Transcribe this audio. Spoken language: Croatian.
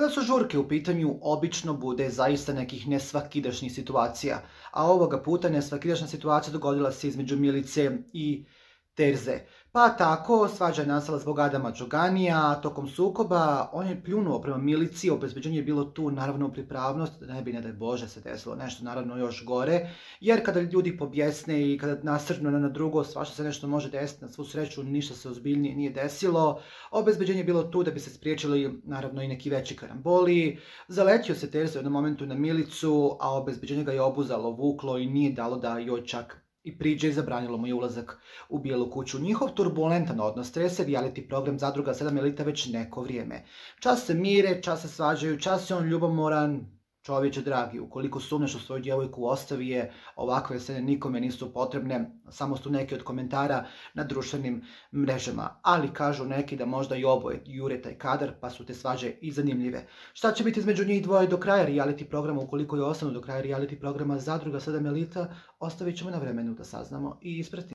Kada su žurke u pitanju, obično bude zaista nekih nesvakidašnjih situacija, a ovoga puta nesvakidašnja situacija dogodila se između Milice i Terze. Pa tako, svađa je nastala zbog Adama Đoganija, a tokom sukoba on je pljunuo prema Milici, obezbeđenje je bilo tu naravno u pripravnost, da ne bi, ne daj Bože, se desilo nešto naravno još gore, jer kada ljudi pobjesne i kada nasrnu na drugo, svašta se nešto može desiti, na svu sreću ništa se ozbiljnije nije desilo. Obezbeđenje je bilo tu da bi se spriječili naravno i neki veći karamboli. Zaletio se Terza u jednom momentu na Milicu, a obezbeđenje ga je obuzalo, vuklo i nije dalo da joj čak i priđe i zabranilo mu je ulazak u Bijelu kuću. Njihov turbulentan odnos trese reality program Zadruga 7 elita već neko vrijeme. Čas se mire, čas se svađaju, čas je on ljubomoran. Čovječe dragi, ukoliko sumnjaš u svoju djevojku, ostavi je, ovakve scene nikome nisu potrebne, samo su neki od komentara na društvenim mrežama. Ali kažu neki da možda i oboje jure taj kadar, pa su te svađe i zanimljive. Šta će biti između njih dvoje do kraja reality programa, ukoliko je ostanu do kraja reality programa Zadruga 7 elita, ostavit ćemo na vremenu da saznamo i ispratimo.